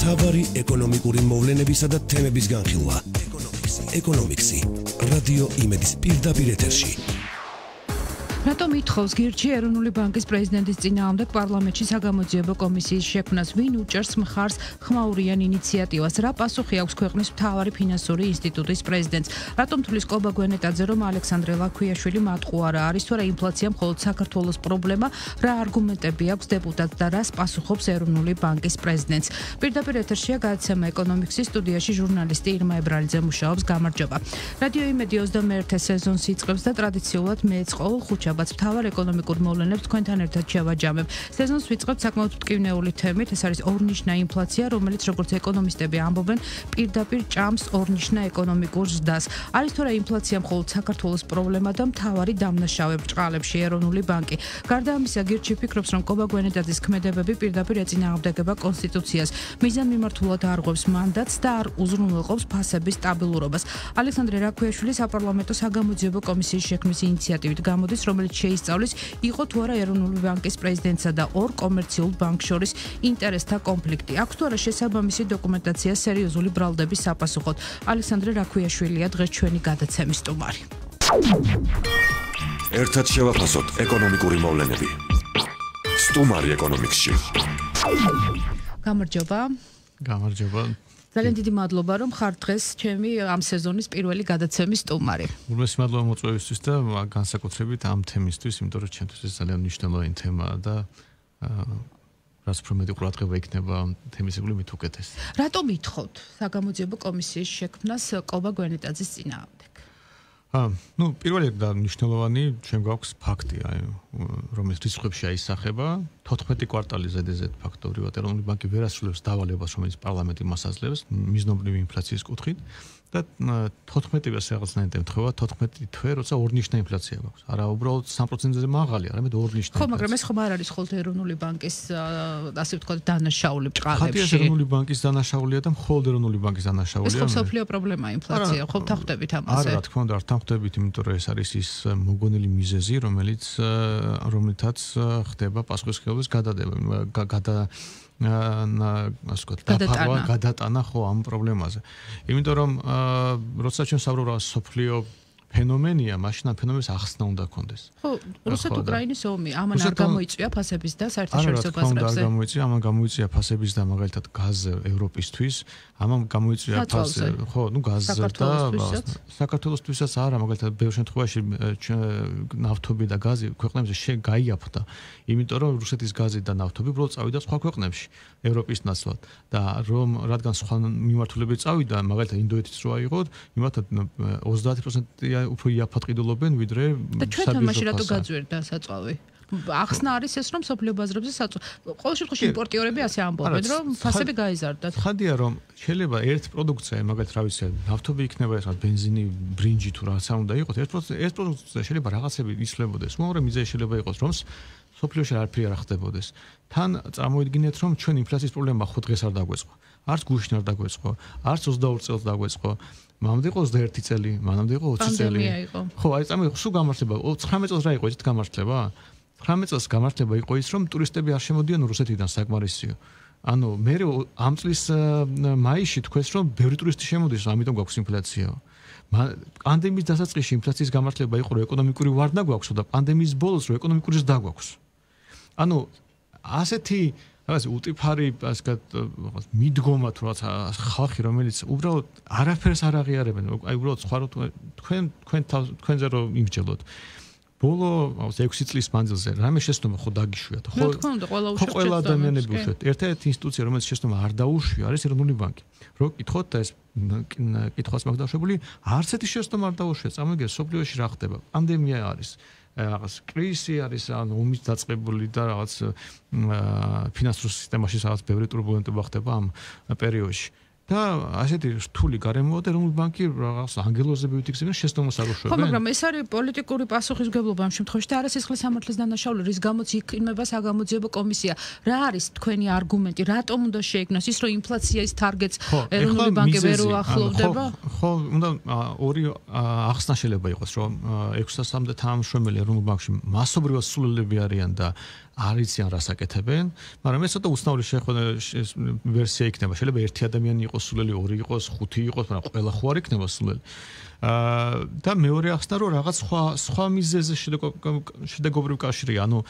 მთავარი ეკონომიკური მოვლენებისა და თემების განხილვა. ეკონომიქსი. რადიო იმედის პირდაპირ ეთერში. რატომ ითხოვს გირჩი ეროვნული ბანკის პრეზიდენტის წინააღმდეგ პარლამენტში საგამოძიებო კომისიის შექმნას? ვინ უჭერს მხარს ხმაურიან ინიციატივას? რა პასუხი აქვს ქვეყნის მთავარი ფინანსური ინსტიტუტის პრეზიდენტს? რატომ თulis კობა გვენეტაძე, რომ ალექსანდრე ლაქვიაშვილი მატყუარა არის, თუ რა ინფლაცია მხოლოდ საქართველოს პრობლემა? რა არგუმენტები აქვს დეპუტატს და რას პასუხობს ეროვნული ბანკის პრეზიდენტს? პირდაპირ ეთერშია გადაცემა ეკონომიქსის სტუდიაში ჟურნალისტი ირმა ებრალიძე მუშაობს. გამარჯობა. რადიო იმედი 21 სეზონს იწყებს და ტრადიციულად მეც ყოველ ხუთშაბათს მთავარ ეკონომიკურ მოვლენებს თქვენთან ერთად შევაჯამებ. სეზონს ვიწყებთ საკმაოდ მტკივნეული თემით, ეს არის ორნიშნა ინფლაცია, რომელიც როგორც ეკონომისტები ამბობენ, პირდაპირ ჭამს ორნიშნა ეკონომიკურ ზრდას. არის თუ რა ინფლაცია მხოლოდ საქართველოს პრობლემა და მთავარი დამნაშავე ბრჭყალებში ეროვნული ბანკი. გარდა ამისა, გირჩი ფიქრობს, რომ კობა გვენეტაძის ქმედებები პირდაპირ ეწინააღმდეგება კონსტიტუციას, მიზანმიმართულად არღვევს მანდატს და არ უზრუნველყოფს ფასების სტაბილურობას. ალექსანდრე ლაქვიაშვილი საპარლამენტო საგამოძიებო კომისიის შექმნის ინიციატივით გამოდის, რომელიც შეისწავლის, იყო თუ არა ეროვნული ბანკის პრეზიდენტსა და ორ კომერციულ ბანკს შორის ინტერესთა კონფლიქტი. აქვს თუ არა შესაბამისი დოკუმენტაცია სერიოზული ბრალდების საპასუხოდ. ალექსანდრე ლაქვიაშვილია დღეს ჩვენი გადაცემის სტუმარი. ერთად შევაფასოთ ეკონომიკური მოვლენები. სტუმარი ეკონომიქსში. გამარჯობა. გამარჯობა. ძალიან დიდი მადლობა, რომ ხარ დღეს ჩემი ამ სეზონის პირველი გადაცემის სტუმარი. ულმესი მადლობა მოწვევისთვის და განსაკუთრებით ამ თემისთვის, იმიტომ რომ ჩემთვის ეს ძალიან მნიშვნელოვანი თემაა და რაც უფრო მეტი ყურადღება იქნება თემის იგული მით უკეთეს. რატომ ითხოვთ საგამოძიებო კომისიის შექმნას კობა გვენეტაძის წინააღმდეგ? პირველი და მნიშვნელოვანი ჩვენ გვაქვს ფაქტი, რომელიც რიცხვებში აისახება. 14 კვარტალი ზედიზედ ფაქტობრივად ეროვნული ბანკი ვერ ასრულებს დავალებას, რომელიც პარლამენტი მას აძლევს მიზნობრივი ინფლაციის კუთხით და 14-ს რაღაცნაირად ემთხვევა 14 თვე, როცა ორნიშნა ინფლაცია გვაქვს. არა, უბრალოდ 3%-ზე მაღალი, არამედ ორნიშნა. ხო, მაგრამ ეს ხომ არ არის ხოლმე ეროვნული ბანკის ასე ვთქვათ დანაშაული ბრჭყალებში. ხათია ეროვნული ბანკის დანაშაულია და მხოლოდ ეროვნული ბანკის დანაშაულია. ეს ხო მსოფლიო პრობლემაა ინფლაცია, ხო თანხმდებით ამაზე? არა, რა თქმა უნდა, არ თანხმდებით, იმიტომ რომ ეს არის ის მოგონილი მიზეზი, რომელთაც ხდება პასუხისმგებლობის გადადება. გადატანა ხო ამ პრობლემაზე. იმიტომ რომ როცა ჩვენ საუბრობთ რა სოფლიო ფენომენია, მაშინ ამ ფენომენს ახსნა უნდა კონდეს. ხო, რუსეთ-უკრაინის ომი, ამან არ გამოიწვია ფასების და საერთაშორისო ბაზრებზე. არ გამოიწვია, ამან გამოიწვია ფასების და მაგალითად გაზზე ევროპისთვის, ამან გამოიწვია ფასზე, ხო, გაზზე და საქართველოსთვისაც არა, მაგალითად ბევრ შემთხვევაში ნავთობი და გაზი ქვეყნებზე გაიაფრდა, იმიტომ რომ რუსეთის გაზი და ნავთობი უბრალოდ წავიდა სხვა ქვეყნებში, ევროპის ნაცვლად და რადგან სხვა მიმართულებით წავიდა, მაგალითად ინდოეთიც რო აიღოთ, იმათ 30% უფრო იაფად ყიდულობენ ვიდრე და ჩვენთან მაშინ რატო გაძვერდა საწვავი? ახსნა არის ეს, რომ სოფლიო ბაზრებზე ყოველ შემთხვევაში იმპორტიორები ასე ამბობენ, რომ ფასები გაიზარდათ. ხადია, რომ შეიძლება ერთ პროდუქცია, მაგალითად, რა ვიცი, ნავთობი იქნება ეს ბენზინი, ბრინჯი თუ რაღაცა უნდა იყოს, ეს პროდუქცია შეიძლება რაღაცები იცვლებოდეს, მაგრამ მიზეზი შეიძლება იყოს, რომ სოფლიოში არაფერი არ ხდებოდეს. თან წარმოიდგინეთ, რომ ჩვენ ინფლაციის პრობლემა ხო დღეს არ დაგვეწყო. არც გუშინ არ დაგვეწყო, არც 22 წელს დაგვეწყო. მანამდე იყო 21 წელი, მანამდე იყო 20 წელი. ხო, აი წამოიღო სულ გამართლება. 19 წელს რა იყო ეს გამართლება? 19 წელს გამართლება იყო ის, რომ ტურისტები არ შემოდიან რუსეთიდან საკმარისიო. ანუ მე ამ წლის მაისში თქვეს, რომ ბევრი ტურისტი შემოდის, ამიტომ გვაქვს ინფლაცია. პანდემიის დასაწყისში ინფლაციის გამართლება იყო, რომ ეკონომიკური ვარდნა გვაქვს და პანდემიის ბოლოს რომ ეკონომიკური ზრდა გვაქვს. ანუ ასეთი რაღაც უტიფარი, ასე ვთქვათ, მიდგომა თუ რაღაც ხალხი, რომელიც უბრალოდ არაფერს არ აღიარებენ, აი უბრალოდ სხვა თქვენზე რომ იმსჯელოთ. ბოლო 6 წლის მანძილზე რამე შეცდომა ხო დაგიშვიათ, ხო? ყველა ადამიანები უშვიათ. ერთ-ერთი ინსტიტუცია, რომელიც შეცდომა არ დაუშვია, არის ეროვნული ბანკი. რო კითხოთ და ეს კითხვას მაქვს დაშვებული, არც ერთი შეცდომა არ დაუშვია. წამოიგეთ, სოფლიოში რა ხდება? პანდემია არის. რაღაც კრიზისი არის, ანუ ომის დაწყებული და რაღაც ფინანსურ სისტემაში რაღაც ბევრი турბულენტობა ხდება ამ პერიოდში. და ასეთი რთული გარემოა და ეროვნული ბანკი რაღაც ანგელოზებივით იქცევენ შეცდომას არ უშვებენ. ხო, მაგრამ ეს არის პოლიტიკური პასუხისმგებლობა ამ შემთხვევაში და არასისხლის სამართლის დანაშაული, რის გამოც იქნება საგამოძიებო კომისია. რა არის თქვენი არგუმენტი, რატომ უნდა შეიქმნას ის, რომ ინფლაციის თარგეტს ეროვნული ბანკი ვერ უახლოვდება? ხო, უნდა ორი ახსნა შეიძლება იყოს, რომ 600-მდე თანამშრომელი ეროვნულ ბანკში მასობრივად სულელები არიან და არ იციან რას აკეთებენ, მაგრამ ეს ცოტა უცნაური ვერსია იქნება. შეიძლება ერთი ადამიანი იყოს სულელი, ორი იყოს, ხუთი იყოს, მაგრამ ყველა ხო არ იქნება სულელი. და მეორე ახსნა რომ რაღაც სხვა მიზეზზე შედეგობრივ კავშირია, ანუ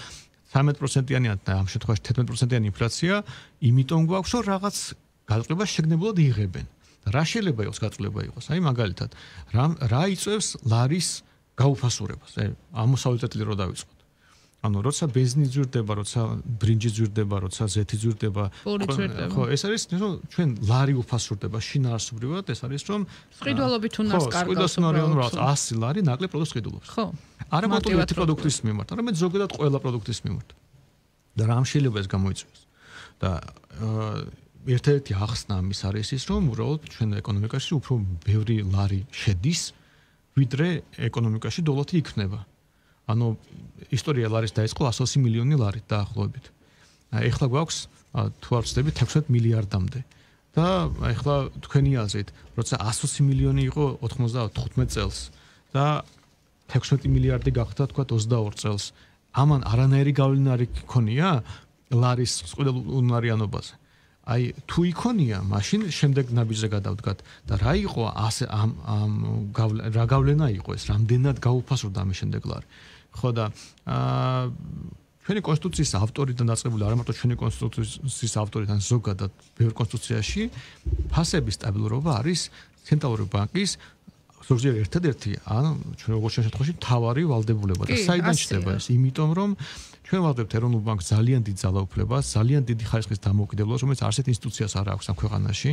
13%-იანი და ამ შემთხვევაში 11%-იანი ინფლაცია, იმიტომ გვაქვს რომ რაღაც გაწყვეტილება შეგნებულად იღებენ. რა შეიძლება იყოს გაწყვეტილება იყოს? აი მაგალითად, რა იწევს ლარის გაუფასურებას? ამოსავლის წერტილი რო დავიწყოთ. ანუ როცა ბენზინი ძვირდება, როცა ბრინჯი ძვირდება, როცა ზეთი ძვირდება, ხო, ეს არის რომ ჩვენ ლარი უფასურდება შინაარსობრივად, ეს არის რომ სყიდველობით უნარს კარგავს. სყიდველობით უნარს 100 ლარი ნაკლებ პროდუქტს სყიდულობს. ხო. არა მარტო ერთი პროდუქტის მიმართ, არამედ ზოგადად ყველა პროდუქტის მიმართ. და რამ შეიძლება ეს გამოიწვიოს? და ერთ-ერთი ახსნა ამის არის ის, რომ უბრალოდ ჩვენ ეკონომიკაში უფრო ბევრი ლარი შედის, ვიდრე ეკონომიკაში დოლარი იქნება. ანუ ისტორია ლარის დაიწყო 120 მილიონი ლარით დაახლოებით. ეხლა გვაქვს თუ არ ვცდები 16 მილიარდამდე. და ეხლა თქვენი აზრით, როცა 120 მილიონი იყო 95 წელს და 16 მილიარდი გახდა თქვა 22 წელს. ამან არანაირი გავლენა არ იქონია ლარის სყიდულ უნარიანობაზე. აი თუ იქონია, მაშინ შემდეგ ნაბიჯზე გადავდგათ და რა იყო რა გავლენა იყო ეს, რამდენად გაუფასურდა ამის შემდეგ ლარი. ხო და ჩვენი კონსტიტუციის ავტორიდან დაწყებული, არა მარტო ჩვენი კონსტიტუციის ავტორიდან, ზოგადად ბევრ კონსტიტუციაში ფასების სტაბილურობა არის ცენტრალური ბანკის ზოგჯერ ერთადერთი, ანუ ჩვენ როგორც შემთხვევაში მთავარი ვალდებულება და საიდან ჩდება ეს? იმიტომ რომ ჩვენ ვავდებთ ეროვნულ ბანკს ძალიან დიდ ძალაუფლებას, ძალიან დიდი ხარისხის დამოუკიდებლობას, რომელიც არცერთ ინსტიტუციას არ აქვს ამ ქვეყანაში.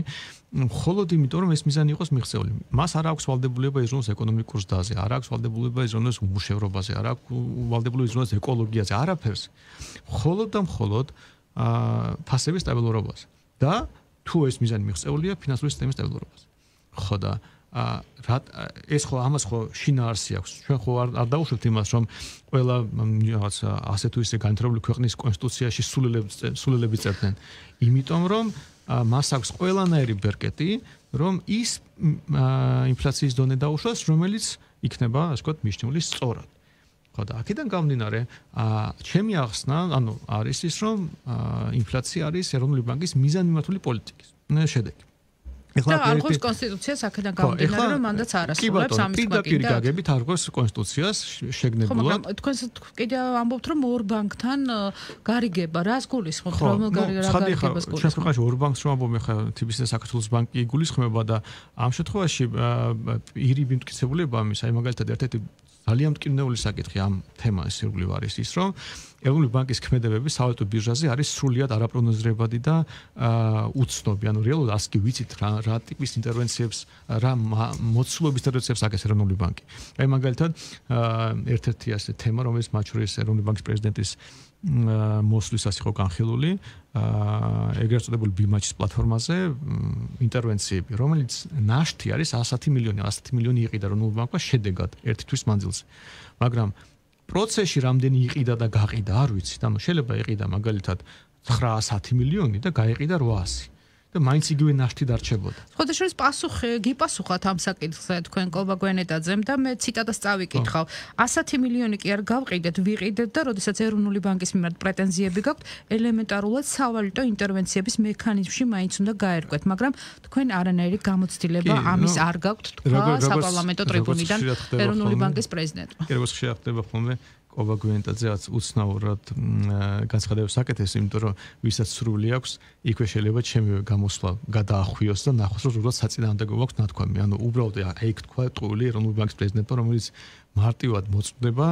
მხოლოდ იმიტომ რომ ეს მიზანი იყოს მიღწეული. მას არ აქვს ვალდებულება იზრუნოს ეკონომიკურ ზრდაზე, არ აქვს ვალდებულება იზრუნოს უმუშევრობაზე, არ აქვს ვალდებულება იზრუნოს ეკოლოგიაზე, არაფერს. მხოლოდ და მხოლოდ ფასების სტაბილურობაზე. და თუ ეს მიზანი მიღწეულია ფინანსური სისტემის სტაბილურობაზე. ხო და ეს ხო ამას ხო შინაარსი აქვს. ჩვენ ხო არ დავუშვებთ იმას, რომ ყველა რაღაც ასე თუ ისე განვითარებული ქვეყნის კონსტიტუციაში სულელები წერდნენ. იმიტომ რომ მას აქვს ყველანაირი ბერკეტი, რომ ის ინფლაციის დონე დაუშვას, რომელიც იქნება, ასე ვთქვათ, მიჩნეული სწორად. ხო და აქედან გამომდინარე, ჩემი ახსნა, ანუ არის ის, რომ ინფლაცია არის ეროვნული ბანკის მიზანმიმართული პოლიტიკის შედეგი. ეხლა არგოს კონსტიტუციას აქედან გამომდინარე, რომ მანდაც არასრულებს ამის პირდაპირ გაგებით არგოს კონსტიტუციას შეგნებულად. თქვენ კიდე ამბობთ, რომ ორ ბანკთან გარიგება, რას გულისხმობთ, რომ გარიგებას გულისხმობთ? ჩვენ ქვეყანაში ორ ბანკს რომ ამბობ, ეხლა TBC და საქართველოს ბანკი იგულისხმება და ამ შემთხვევაში ირიბი მტკიცებულება ამის, აი მაგალითად ერთ-ერთი ძალიან მტკივნეული საკითხი ამ თემას ირგვლივ არის ის, რომ ეროვნული ბანკის ქმედებები სავალუტო ბირჟაზე არის სრულიად არაპროგნოზირებადი და უცნობი. ანუ რეალურად ასკი ვიცით რა ტიპის ინტერვენციებს, რა მოცულობის ინტერვენციებს აკეთებს ეროვნული ბანკი. აი მაგალითად ერთ-ერთი ასე თემა, რომელიც მათ შორის ეროვნული ბანკის პრეზიდენტის მოსვლისას იყო განხილული, ეგრეთ წოდებული ბიმაჩის პლატფორმაზე ინტერვენციები, რომელიც ნაშთი არის 110 მილიონი იყიდა ეროვნულ ბანკმა შედეგად ერთი თვის მანძილზე. მაგრამ პროცესში რამდენი იყიდა და გაყიდა არ ვიცით. ანუ შეიძლება იყიდა მაგალითად 910 მილიონი და გაიყიდა 800 და მაინც იგივე ნაშთი დარჩებოდა. ხოდაშორის გიპასუხათ ამ საკითხზე თქვენ კობა გვენეტაძემ და მე ციტატას წავიკითხავ. 110 მილიონი კი არ გავყიდეთ, ვიყიდეთ და როდესაც ეროვნული ბანკის მიმართ პრეტენზიები გაქვთ, ელემენტარულად სავალუტო ინტერვენციების მექანიზმში მაინც უნდა გაერკვეთ, მაგრამ თქვენ არანაირი გამოცდილება ამის არ გაქვთ თქვა საპარლამენტო ტრიბუნიდან ეროვნული ბანკის პრეზიდენტმა. კი, როგორც ხშირად ხდება ხოლმე კობა გვენეტაძეაც უცნაურად განცხადებას აკეთებს, იმიტომ რომ ვისაც სრული აქვს, იქვე შეიძლება ჩემი გამოსვლა გადაახვიოს და ნახოს, რომ უბრალოდ საწინააღმდეგო აქვს ნათქვამი. ანუ უბრალოდ იქ თქვა ტყუილი ეროვნული ბანკის პრეზიდენტმა, რომელიც მარტივად მოწმდება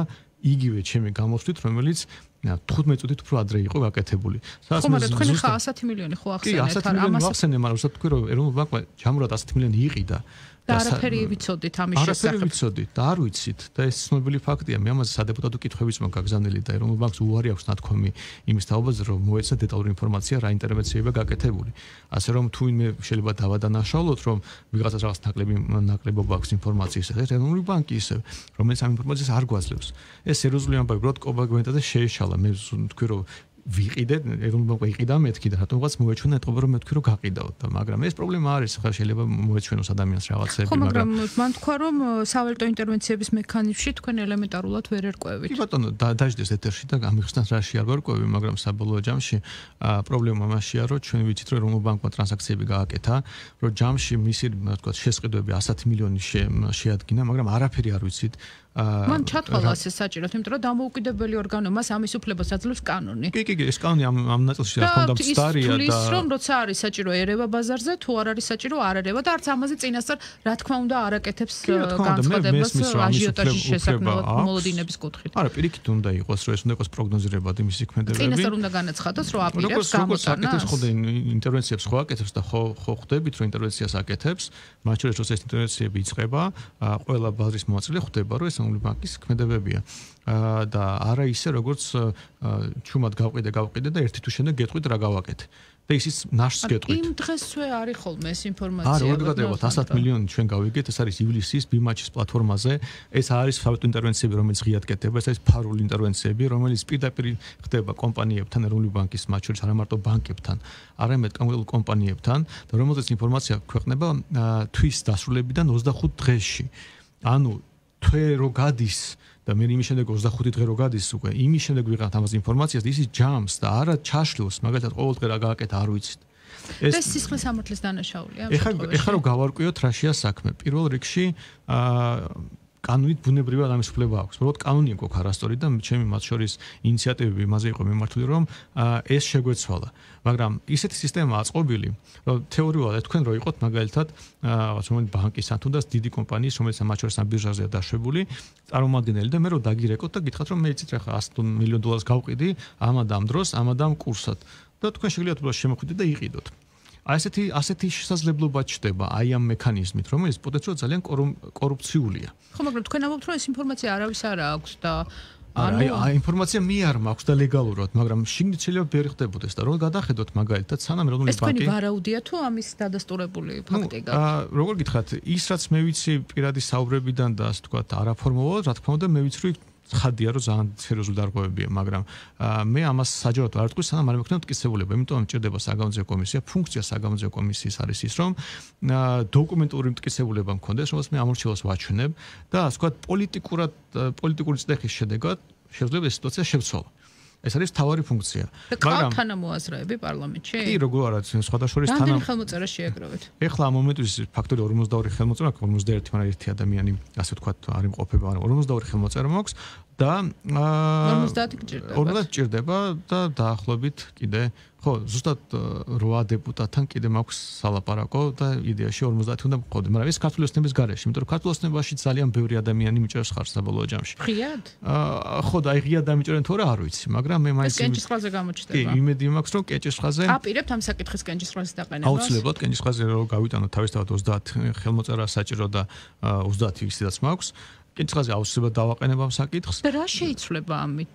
იგივე ჩემი გამოსვლით, რომელიც 15 წუთით უფრო ადრე იყო გაკეთებული. ხო, მაგრამ თქვენ ხა 110 მილიონი ხო ახსენეთ? კი, 110 მილიონი ახსენე, მაგრამ უბრალოდ თქვი, რომ ეროვნული ბანკმა ჯამურად 110 მილიონი იყიდა. და არაფერი ვიცოდით ამის შესახებ. არაფერი ვიცოდით და არ ვიცით და ეს ცნობილი ფაქტია. მე ამაზე სადეპუტატო კითხვებიც მოგაგზავნილი და ეროვნულ ბანკს უარი აქვს ნათქვამი იმის თაობაზე, რომ მოეცათ დეტალური ინფორმაცია რა ინტერვენციებია გაკეთებული. ასე რომ თუ ვინმე შეიძლება დავადანაშაულოთ, რომ ვიღაცას რაღაც ნაკლებობა აქვს ინფორმაციის, ეს ეროვნული ბანკი ისე, რომელიც ამ ინფორმაციას არ გვაძლევს. ეს სერიოზული ამბავი, უბრალოდ კობა გვენეტაძე შეეშალა. მე ვთქვი, რომ ვიყიდეთ, ეროვნულ ბანკი იყიდა მეთქი და რატომღაც მოეჩვენა ეთყობა რომ მეთქი რომ გაყიდაოთ და მაგრამ ეს პრობლემა არის, ხა შეიძლება მოეჩვენოს ადამიანს რაღაცები, მაგრამ მან თქვა რომ სავალუტო ინტერვენციების მექანიზმში თქვენ ელემენტარულად ვერ ერკვევით. კი ბატონო, დაждდეს ეთერში და გამიხსნათ რაში არ ვერკვევი, მაგრამ საბოლოო ჯამში პრობლემა მასშია, რომ ჩვენ ვიცით რომ ეროვნულ ბანკმა ტრანზაქციები გააკეთა, რომ ჯამში მისი თქვა შესყიდვები 100 მილიონი შეადგინა, მაგრამ არაფერი არ ვიცით. მან ჩათვალა ეს საჭიროდ, იმიტომ რომ დამოუკიდებელი ორგანო მას ამის უფლებას აძლევს კანონი. კი, ეს კანონი ამ ნაწილში რა თქმა უნდა მცდარია და ის რომ როცა არის საჭირო ერევა ბაზარზე, თუ არ არის საჭირო არ ერევა და არც ამაზე წინასწარ რა თქმა უნდა არ აკეთებს განცხადებას აჟიოტაჟის შესაქმნელად მოლოდინების კუთხით. არა, პირიქით უნდა იყოს, რომ ეს უნდა იყოს პროგნოზირებადი მისი ქმედებები. წინასწარ უნდა განაცხადოს, რომ აპირებს გამოტანას. როგორც აკეთებს ხოლმე ინტერვენციებს ხო აკეთებს და ხო ხვდებით, რომ ინტერვენციას აკეთებს, მათ შორის როცა ეს ინტერვენციები იწყება, ყველა ბაზრის მოაწილე ხვდება, რომ ეს ეროვნული ბანკის ქმედებებია. და არა ისე როგორც ჩუმად გავყიდე და ერთი თუ შემდეგ გეტყვით რა გავაკეთე. და ისიც ნაშს გეტყვით. იმ დღესვე არის ხოლმე ეს ინფორმაცია. არა, როგორ გადაიღოთ 100 მილიონი ჩვენ გავიგეთ, ეს არის ივლისის ბიმაჩის პლატფორმაზე. ეს არის სავალუტო ინტერვენციები, რომელიც ღიად კეთდება, ეს არის ფარული ინტერვენციები, რომელიც პირდაპირ ხდება კომპანიებთან, ეროვნული ბანკის მათ შორის არა მარტო ბანკებთან, არამედ კონკრეტულ კომპანიებთან და რომელზეც ინფორმაცია ქვეყნება თვის დასრულებიდან 25 დღეში. ანუ თვე რო გადის და მე იმის შემდეგ 25 დღე რო გადის უკვე იმის შემდეგ ვიღებთ ამას ინფორმაციას და ისიც ჯამს და არა ჩაშლილს, მაგალითად ყოველ დღე რა გააკეთა არ ვიცით. ეს სისხლის სამართლის დანაშაულია. ეხლა რო გავარკვიოთ რაშია საქმე. პირველ რიგში კანონით ბუნებრივად ამის უფლება აქვს. უბრალოდ კანონი გვაქვს არასწორი და ჩემი მათ შორის ინიციატივები იმაზე იყო მიმართული, რომ ეს შეგვეცვალა. მაგრამ ისეთი სისტემა აწყობილი, რომ თეორიულად თქვენ რო იყოთ მაგალითად რაღაც რომელიც ბანკის ან თუნდაც დიდი კომპანიის, რომელიც მათ შორის ამ ბირჟაზეა დაშვებული, წარმომადგენელი და მე რო დაგირეკოთ და გითხრათ რომ მე იცით რა ხა 100 მილიონ დოლარს გავყიდი ამ დროს, ამ კურსად და თქვენ შეგიძლიათ უბრალოდ შემოხვიდეთ და იყიდოთ. ასეთი შესაძლებლობა ჩდება აი ამ მექანიზმით, რომელიც პოტენციალურად ძალიან კორუფციულია. ხო, მაგრამ თქვენ ამბობთ, რომ ეს ინფორმაცია არავის არ აქვს და აი ინფორმაცია მე არ მაქვს და ლეგალურად, მაგრამ შიგნით შეიძლება ვერ ხდებოდეს და რომ გადახედოთ მაგალითად სანამ ეროვნული ბანკი. ეს თქვენი ვარაუდია თუ ამის დადასტურებული ფაქტი გაქვს? როგორ გითხრათ, ის რაც მე ვიცი პირადი საუბრებიდან და ასე ვთქვათ არაფორმულურად, რა თქმა უნდა მე ვიცი რომ ხადია რომ ძალიან სერიოზული დარღვევებია, მაგრამ მე ამას საჯაროდ არ ვთქვი, სანამ არ მეკვნევ მტკიცებულება, იმიტომ მჭირდება საგამოძიებო კომისია, ფუნქცია საგამოძიებო კომისიის არის ის, რომ დოკუმენტური მტკიცებულება მქონდეს, რომელსაც მე ამორჩილოს ვაჩვენებ და ასე ვთქვათ პოლიტიკური წდეხის შედეგად შეიძლება ეს სიტუაცია შევცვალო. ეს არის თავარი ფუნქცია. მაგრამ თანამოაზრეები პარლამენტში? კი, როგორ არა, სხვადასხვა რამდენი ხელმოწერა შეაგროვეთ? ეხლა ამ მომენტის ფაქტორი 42 ხელმოწერა, 51, მაგრამ ერთი ადამიანი, ასე ვთქვათ, არ იმყოფება, მაგრამ 42 ხელმოწერა მაქვს და 50 გჭირდება. 50 გჭირდება და დაახლოებით კიდე ხო, ზუსტად 8 დეპუტატთან კიდე მაქვს სალაპარაკო და იდეაში 50 უნდა მყავდე, მაგრამ ეს ქართული ოცნების გარეშე, იმიტომ რომ ქართული ოცნებაში ძალიან ბევრი ადამიანი მიჭერს ხარს საბოლოო ჯამში. ღიად? ხო, და აი ღიად დამიჭერენ თუ რა არ ვიცი, მაგრამ მე მაინც კენჭისყრაზე გამოჩნდება. კი, იმედი მაქვს რომ კენჭისყრაზე აპირებთ ამ საკითხის კენჭისყრაზის დაყენებას. აუცილებლად კენჭისყრაზე რომ გავიტანოთ თავისთავად 30 ხელმოწერა საჭირო და 30 ისედაც მაქვს. კენჭისყრაზე აუცილებლად დავაყენებ ამ საკითხს. და რა შეიცვლება ამით?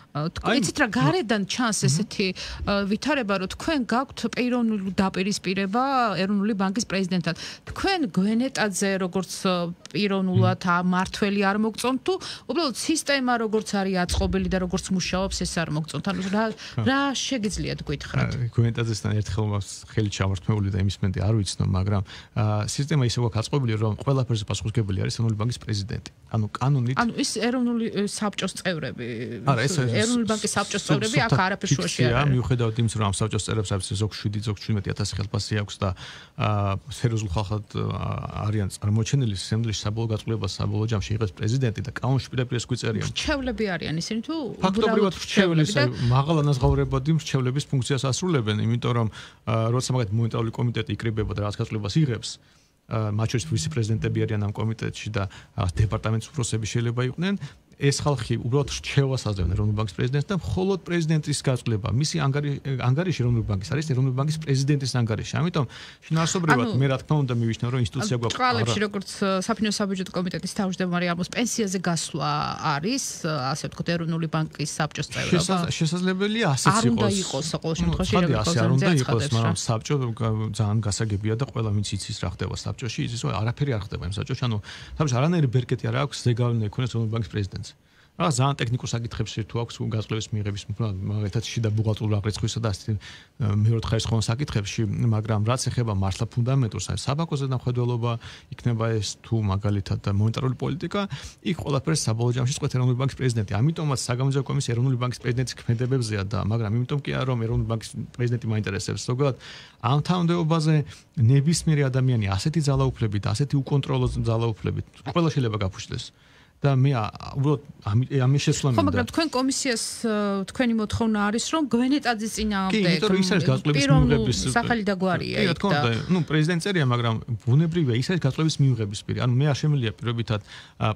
იცით რა გარედან ჩანს ესეთი ვითარება, რომ თქვენ გაქვთ პიროვნული დაპირისპირება ეროვნული ბანკის პრეზიდენტთან. თქვენ გვენეტაძე როგორც პიროვნულად მართველი არ მოგწონთ თუ უბრალოდ სისტემა როგორც არის აწყობილი და როგორც მუშაობს ეს არ მოგწონთ? ანუ რა შეგიძლიათ გითხრათ? გვენეტაძესთან ერთხელ მაქვს ხელი ჩამართმეული და იმის მომენტი არ ვიცნო, მაგრამ სისტემა ისე გვაქვს აწყობილი, რომ ყველაფერზე პასუხისმგებელი არის ეროვნული ბანკის პრეზიდენტი. ანუ კანონით ანუ ის ეროვნული საბჭოს წევრები. არა, ეს ეროვნული ბანკის საბჭოს წევრები აქ არაფერ შუაში არ არის. მიუხედავად იმისა, რომ ამ საბჭოს წევრებს არის ზოგ 7, ზოგ 17000 ხელფასი აქვს და სერიოზულ ხალხად არიან წარმოჩენილი, სამდრიში საბოლოო გაწყვეტილებას საბოლოო ჯამში იღებს პრეზიდენტი და კანონში პირდაპირ ეს გვიწერია. მრჩევლები არიან ისინი თუ ფაქტობრივად მრჩევლები, მაღალ ანაზღაურებადი მრჩევლების ფუნქციას ასრულებენ, იმიტომ რომ როცა მაგათ მონეტარული კომიტეტი იკრიბება და რაღაც გაწყვეტილებას იღებს, მათ შორის ვიცე-პრეზიდენტები არიან ამ კომიტეტში და დეპარტამენტის უფროსები შეიძლება იყვნენ. ეს ხალხი უბრალოდ რჩევას აძლევენ ეროვნული ბანკის პრეზიდენტს და მხოლოდ პრეზიდენტის გაწყვეტილება, მისი ანგარიში ეროვნული ბანკის არის ეროვნული ბანკის პრეზიდენტის ანგარიში. ამიტომ შინაარსობრივად მე რა თქმა უნდა მივიშნევ, რომ ინსტიტუცია გვაქვს. წყალებში როგორც საფინანსო საბიუჯეტო კომიტეტის თავმჯდომარე ამბობს, პენსიაზე გასვლა არის, ასე ვთქვათ, ეროვნული ბანკის საბჭოს წევრობა. შესაძლებელია ასეც იყოს. არ უნდა იყოს ყოველ შემთხვევაში, არ უნდა იყოს, მაგრამ საბჭო ძალიან გასაგებია და ყველა ვინც იცის რა ხდება საბჭოში, იცის რომ არაფერი არ ხდება იმ საბჭოში. ანუ საბჭოში არანაირი ბერკეტი არ აქვს ზეგავლენა იქონეს ეროვნული ბანკის პრეზიდენტს. რა ძალიან ტექნიკურ საკითხებში თუ აქვს გაზრდების მიღების მაგალითად შიდა ბუღალტერულ აღრიცხვისა და ასეთი მეორე ხარისხოვან საკითხებში, მაგრამ რაც ეხება მართლა ფუნდამენტურს, აი საბანკო ზედამხედველობა იქნება ეს თუ მაგალითად მონეტარული პოლიტიკა, იქ ყველაფერს საბოლოო ჯამში წყვეტ ეროვნული ბანკის პრეზიდენტი. ამიტომაც საგამოძიებო კომისია ეროვნული ბანკის პრეზიდენტის ქმედებებზეა და მაგრამ იმიტომ კი არა რომ ეროვნული ბანკის პრეზიდენტი მაინტერესებს ზოგადად ამ თანამდებობაზე ნებისმიერი ადამიანი ასეთი ძალაუფლებით, ასეთი უკონტროლო ძალაუფლებით ყველა შეიძლება გაფუჭდეს. და მე უბრალოდ ამის შესრულამდე ხო, მაგრამ თქვენ კომისიას თქვენი მოთხოვნა არის რომ გვენეტაძის წინააღმდეგ კი, იმიტომ რომ ის არის გაწყვეტის მიღების სახელი და გვარია კი, რა თქმა უნდა, ნუ პრეზიდენტ წერია, მაგრამ ბუნებრივია ის არის გაწყვეტის მიღების პირი. ანუ მე არ შემიძლია პირობითად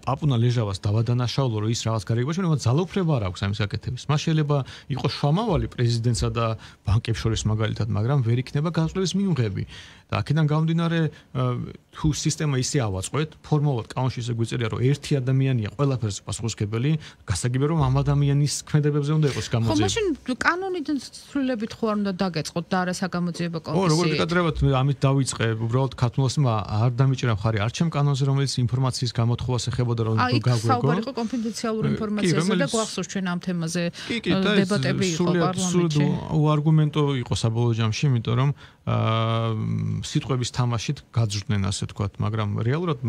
პაპუნა ლეჟავას დავადანაშაულო, რომ ის რაღაც გარიგებაში, მაგრამ ძალაუფლება არ აქვს ამის გაკეთების. მას შეიძლება იყოს შუამავალი პრეზიდენტსა და ბანკებს შორის მაგალითად, მაგრამ ვერ იქნება გაწყვეტის მიღები. და აქედან გამომდინარე თუ სისტემა ისე ავაწყოთ, ფორმალურად კანონში ისე გვიწერია, რომ ერთი ადამიანია ყველაფერზე პასუხისმგებელი, გასაგებია რომ ამ ადამიანის ქმედებებზე უნდა იყოს გამოძიება. ხო, მაშინ კანონიდან ცვლილებით ხო არ უნდა დაგეწყოთ და არა საგამოძიებო კომისია. ო, როგორ გეკადრებათ, ამით დავიწყე, უბრალოდ ქართულოსმა არ დამიჭირა მხარი არ ჩემ კანონზე, რომელიც ინფორმაციის გამოთხოვას ეხებოდა რომ გაგვეგო. საუბარი იყო კონფიდენციალური ინფორმაციაზე და გვახსოვს ჩვენ ამ თემაზე დებატები იყო პარლამენტში. სულ არგუმენტო იყო საბოლოო ჯამში, იმიტომ რომ სიტყვების თამაშით გაძრდნენ ასე თქვათ, მაგრამ რეალურად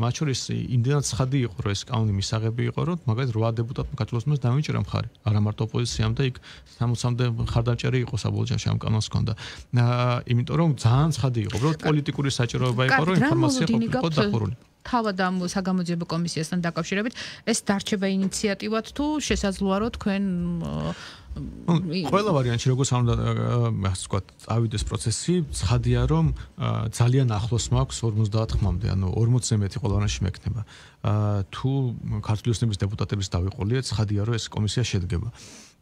მათ შორის იმდენად ცხადი იყო, რომ ეს კანონი მისაღები იყო, რომ მაგალითად 8 დეპუტატმა ქართულოსმას დამიჭირა მხარი. არა მარტო ოპოზიციამ და იქ 60-მდე მხარდამჭერი იყო საბოლოო ჯამში ამ კანონს ჰქონდა. იმიტომ რომ ძალიან ცხადი იყო, უბრალოდ პოლიტიკური საჭიროება იყო, რომ ინფორმაცია ყოფილიყო დახურული. თავად ამ საგამოძიებო კომისიასთან დაკავშირებით ეს დარჩება ინიციატივად თუ შესაძლოა რომ თქვენ ყველა ვარიანტში როგორც არ უნდა ასე ვთქვათ, წავიდეს პროცესი, ცხადია რომ ძალიან ახლოს მაქვს 50-მდე, ანუ 40-ზე მეტი ყველანაში მექნება. თუ ქართული ოცნების დეპუტატების დავიყოლიეთ, ცხადია რომ ეს კომისია შედგება.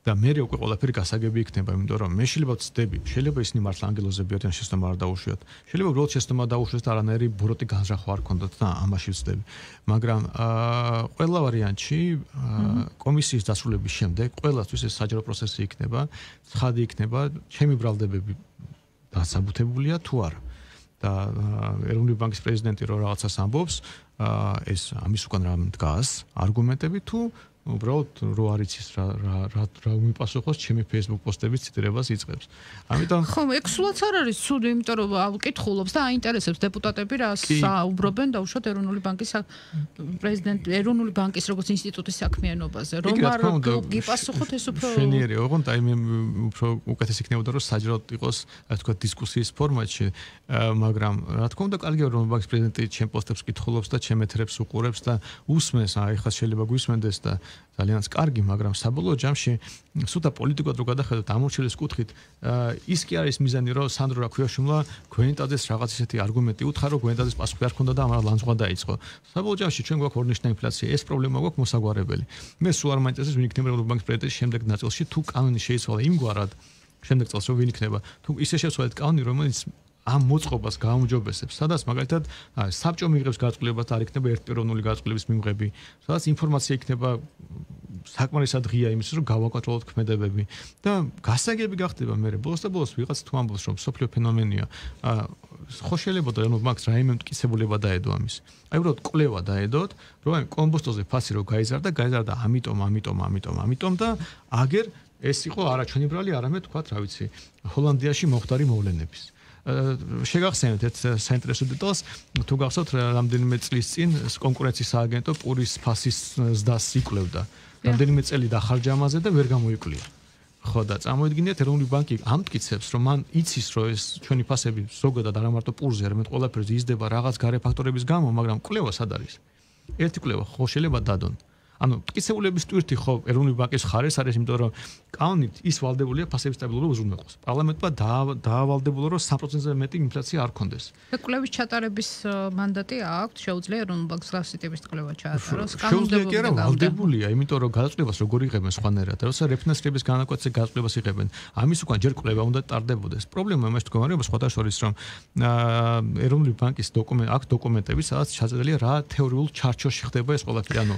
და მე უკვე ყველაფერი გასაგები იქნება, იმიტომ რომ მე შეიძლება ვცდები, შეიძლება ისინი მართლა ანგელოზები არიან, შეცდომა არ დაუშვიოთ. შეიძლება უბრალოდ შეცდომა დაუშვეს და არანაირი ბოროტი განზრახვა არ ქონდათ და ამაში ვცდები. მაგრამ ყველა ვარიანტში კომისიის დასრულების შემდეგ ყველასთვის ეს საჯარო პროცესი იქნება, ცხადი იქნება, ჩემი ბრალდებები დასაბუთებულია თუ არა. და ეროვნული ბანკის პრეზიდენტი რო რაღაცას ამბობს, ეს ამის უკან რა დგას, არგუმენტები თუ უბრალოდ რო არის ის რა მიპასუხოს ჩემი Facebook პოსტების ციტირებას იწყებს. ამიტომ ხო, ეგ სულაც არ არის ცუდი, იმიტომ რომ ავკითხულობს და აინტერესებს დეპუტატები რა საუბრობენ და უშუალოდ ეროვნული ბანკის პრეზიდენტი, ეროვნული ბანკის როგორც ინსტიტუტის საქმიანობაზე. რომ არ გიპასუხოთ ეს უფრო შენიერი, ოღონდ აი მე უფრო უკეთეს იქნებოდა რომ საჯაროდ იყოს, ასე ვთქვათ, დისკუსიის ფორმატში, მაგრამ რა თქმა უნდა, კარგია ეროვნული ბანკის პრეზიდენტი ჩემ პოსტებს კითხულობს და ჩემ ეთერებს უყურებს და უსმენს, აი ხა შეიძლება გვისმენდეს და ძალიანაც კარგი, მაგრამ საბოლოო ჯამში სუთა პოლიტიკურად რო გადახედოთ ამორჩილის კუთხით, ის კი არის მიზანი, რომ სანდრო რაქვიაშვილმა გვენეტაძეს რაღაც ისეთი არგუმენტი უთხრა, რომ გვენეტაძეს პასუხი არ ჰქონდა და ამან ლანძღვა დაიწყო. საბოლოო ჯამში ჩვენ გვაქვს ორნიშნა ინფლაცია, ეს პრობლემა გვაქვს მოსაგვარებელი. მე სულ არ მაინტერესებს ვინ იქნება ეროვნული ბანკის პრეზიდენტის შემდეგ ნაწილში, თუ კანონი შეიცვალა იმგვარად, შემდეგ წელს რომ ვინ იქნება, თუ ისე შეცვალეთ კანონი, რომელიც ამ მოწყობას გაუმჯობესებს, სადაც მაგალითად საბჭო მიიღებს გაწყვეტილებას და არ იქნება ერთპიროვნული გაწყვეტილების მიღები, სადაც ინფორმაცია იქნება საკმარისად ღია იმის, რომ გავაკონტროლოთ ქმედებები და გასაგები გახდება მე ბოლოს და ბოლოს ვიღაც თუ ამბობს, რომ სოფლიო ფენომენია, ხო შეიძლება და ეროვნულ ბანკს რაიმე მტკიცებულება დაედო ამის. აი უბრალოდ კვლევა დაედოთ, რომ აი კომბოსტოზე ფასი რო გაიზარდა ამიტომ და აგერ ეს იყო არა ჩვენი ბრალი, არამედ თქვათ, რა ვიცი, ჰოლანდიაში მომხდარი მოვლენების. შეგახსენებთ ერთ საინტერესო დეტალს, თუ გახსოვთ რამდენიმე წლის წინ კონკურენციის სააგენტო პურის ფასის ზდას იკვლევდა. რამდენიმე წელი დახარჯა ამაზე და ვერ გამოიკვლიო. ხო და წარმოიდგინეთ ეროვნული ბანკი ამტკიცებს, რომ მან იცის, რომ ეს ჩვენი ფასები ზოგადად არა მარტო პურზე, არამედ ყველაფერზე იზრდება რაღაც გარე ფაქტორების გამო, მაგრამ კვლევა სად არის? ერთი კვლევა ხო შეიძლება დადონ. ანუ მტკიცებულების ტვირთი ხო ეროვნული ბანკის ხარეს არის, იმიტომ რომ კანონით ის ვალდებულია ფასების სტაბილურობა უზრუნველყოს. პარლამენტმა დაავალდებულა, რომ 3%-ზე მეტი ინფლაცია არ ქონდეს. კვლევის ჩატარების მანდატი აქვს, შეუძლია ეროვნული ბანკს გასცი ტიპის კვლევა ჩაატაროს. შეუძლია კი არა, ვალდებულია, იმიტომ რომ გადაწყვეტილებას როგორ იღებენ სხვანაირად, როცა რეფინანსირების განაკვეთზე გადაწყვეტილებას იღებენ, ამის უკან ჯერ კვლევა უნდა ტარდებოდეს. პრობლემა იმაში მდგომარეობა სხვათა შორის, რომ ეროვნული ბანკის დოკუმენტები, სადაც ჩაწერილია რა თეორიულ ჩარჩოში ხდება ეს ყველაფერი, ანუ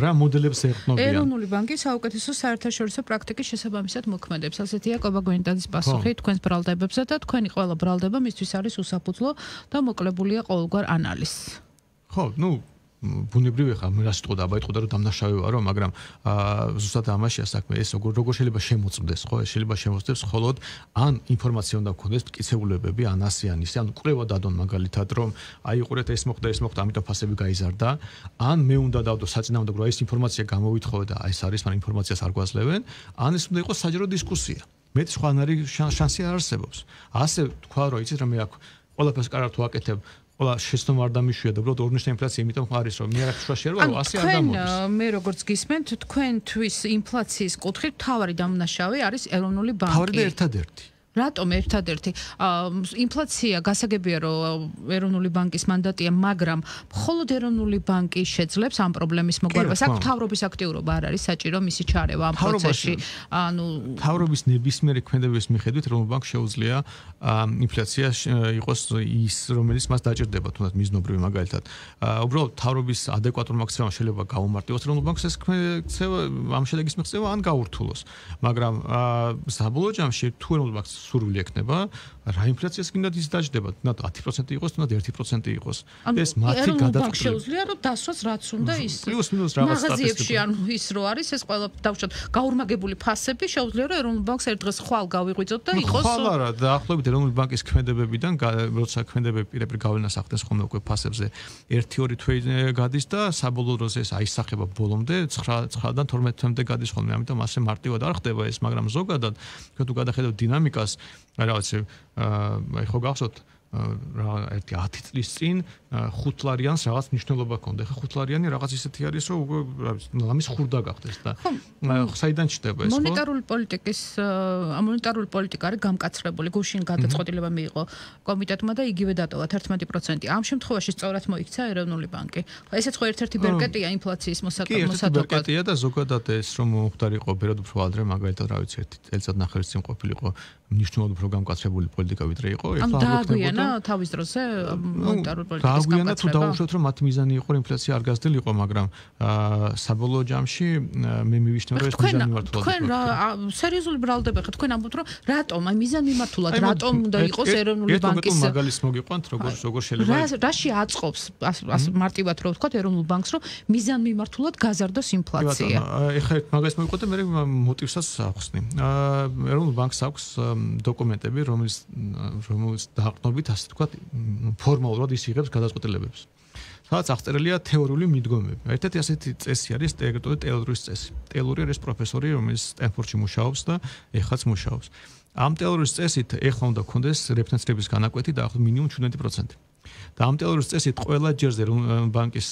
რა მოდელებს ეყრდნობიან. ეროვნული ბანკი საუკეთესო საერთაშორისო პრაქტიკის შესაბამისად მოქმედებს. ასეთია კობა გვენეტაძის პასუხი თქვენს ბრალდებებზე და თქვენი ყველა ბრალდება მისთვის არის უსაფუძვლო და მოკლებულია ყოველგვარ ანალიზს. ხო, ნუ ბუნებრივი ხა მე რა სიტყვა დააიტყოდა რომ დამნაშავე ვარო, მაგრამ ზუსტად ამაშია საქმე, ეს როგორ შეიძლება შემოწმდეს, ხო? ეს შეიძლება შემოწმდეს მხოლოდ ან ინფორმაცია უნდა გქონდეს მტკიცებულებები, ან ასე ან ისე, ან კვლევა დადონ მაგალითად, რომ აი უყურეთ ეს მოხდა, ამიტომ ფასები გაიზარდა, ან მე უნდა დავდო საწინააღმდეგო, რომ ეს ინფორმაცია გამოვითხოვე და ეს არის, მაგრამ ინფორმაციას არ გვაძლევენ, ან ეს უნდა იყოს საჯარო დისკუსია. მეტი სხვა არ არის შანსი არ არსებობს. ასე თქვა რომ იცით რომ მე აქ ყველაფერს კარგად ვაკეთებ, ყველა შეცდომა არ დამიშვია და უბრალოდ ორნიშნა ინფლაცია იმიტომ არის რომ მე არ ხშუაში არ ვარო, ასე არ გამოდის. მე როგორც გისმენთ, თქვენთვის ინფლაციის კუთხით მთავარი დამნაშავე არის ეროვნული ბანკი. მთავარი და ერთადერთი. რატომ ერთადერთი ინფლაცია გასაგებია რომ ეროვნული ბანკის მანდატია, მაგრამ მხოლოდ ეროვნული ბანკი შეძლებს ამ პრობლემის მოგვარებას. აქ მთავრობის აქტიურობა არ არის საჭირო მისი ჩარევა ამ პროცესში. მთავრობის ნებისმიერი ქმედების მიხედვით ეროვნულ ბანკს შეუძლია ინფლაცია იყოს ის, რომელიც მას დაჭირდება, თუნდაც მიზნობრივი მაგალითად. უბრალოდ მთავრობის ადეკვატურ მაქსიმუმს შეიძლება გაუმარტივოს ეროვნულ ბანკს ეს ქცევა, ამ შედეგის მიღწევა ან გაურთულოს. მაგრამ საბოლოო ჯამში თუ ეროვნულ ბანკს სურვილი ექნება, რა ინფლაციას კიდევ ის დაждდება, თუნდაც 10% იყოს, თუნდაც 1% იყოს. ეს მათი გადაწყვეტილება. შეუძლია რომ დასვას რაც უნდა ის. პლუს მინუს რაღაც სტატისტიკაში ანუ ის რო არის ეს ყველა დავუშვათ გაურმაგებული ფასები შეუძლია რომ ეროვნულ ბანკს ერთ დღეს ხვალ გავიღვიძოთ და იყოს. ხვალ არა, დაახლოებით ეროვნული ბანკის ქმედებებიდან, როცა ქმედებები პირდაპირ გავლენას ახდენს ხოლმე უკვე ფასებზე 1-2 თვე გადის და საბოლოო დროზე ეს აისახება ბოლომდე 9-დან 12 თვემდე გადის ხოლმე. ამიტომ ასე მარტივად არ ხდება ეს, მაგრამ ზოგადად თუ გადახედავ დინამიკას, რაღაც აი ხო გახსოვთ რა ერთი 10 წლის წინ 5 ლარიანს რაღაც მნიშვნელობა ჰქონდა. ხა 5 ლარიანი რაღაც ისეთი არის, რომ უკვე ამის ხურდა გახდეს და საიდან ჩდება ეს ხო? მონეტარული პოლიტიკა არის გამკაცრებული, გუშინ გადაწყვეტილება მიიღო კომიტეტმა და იგივე დატოვა 11%. ამ შემთხვევაში სწორად მოიქცა ეროვნული ბანკი. ესეც ხო ერთ-ერთი ბერკეტია ინფლაციის მოსატოკად. ბერკეტია და ზოგადად ეს რომ მოხდარიყო ბერად უფრო ადრე, მაგალითად რა ვიცი, 1 წელიწადნახევრის წინ ყოფილიყო მნიშვნელოვნად უფრო გამკაცრებული პოლიტიკა ვიდრე იყო. ეხლა დააგვიანა თავის დროზე მონეტარული პოლიტიკის გააგვიანა თუ დაუშვათ რომ მათი მიზანი იყო ინფლაცია არ გაზრდილიყო, მაგრამ საბოლოო ჯამში მე მივიშნევ რომ ეს მიზანი მართულად თქვენ რა სერიოზული ბრალდება ხართ, თქვენ ამბობთ რომ რატომ აი მიზანი მართულად რატომ უნდა იყოს ეროვნული ბანკის მაგალის მოგიყვანთ როგორ შეიძლება რაში აწყობს მარტივად რო ვთქვათ ეროვნულ ბანკს რომ მიზანი მართულად გაზარდოს ინფლაცია. ეხლა მაგას მოგიყვანთ და მე მოტივსაც ახსნი. ეროვნულ ბანკს აქვს დოკუმენტები, რომელიც დაყრდნობით ასე თქვა ფორმალურად ის იღებს გადაწყვეტილებებს. სადაც აღწერილია თეორიული მიდგომები. ერთ-ერთი ასეთი წესი არის ტეილორის წესი. ტეილორი არის პროფესორი, რომელიც სტენფორდში მუშაობს და ეხლაც მუშაობს. ამ ტეილორის წესით ეხლა უნდა გქონდეს რეფერენსების განაკვეთი დაახლოებით მინიმუმ 17%. და ამ ტეილორის წესით ყველა ჯერზე ბანკის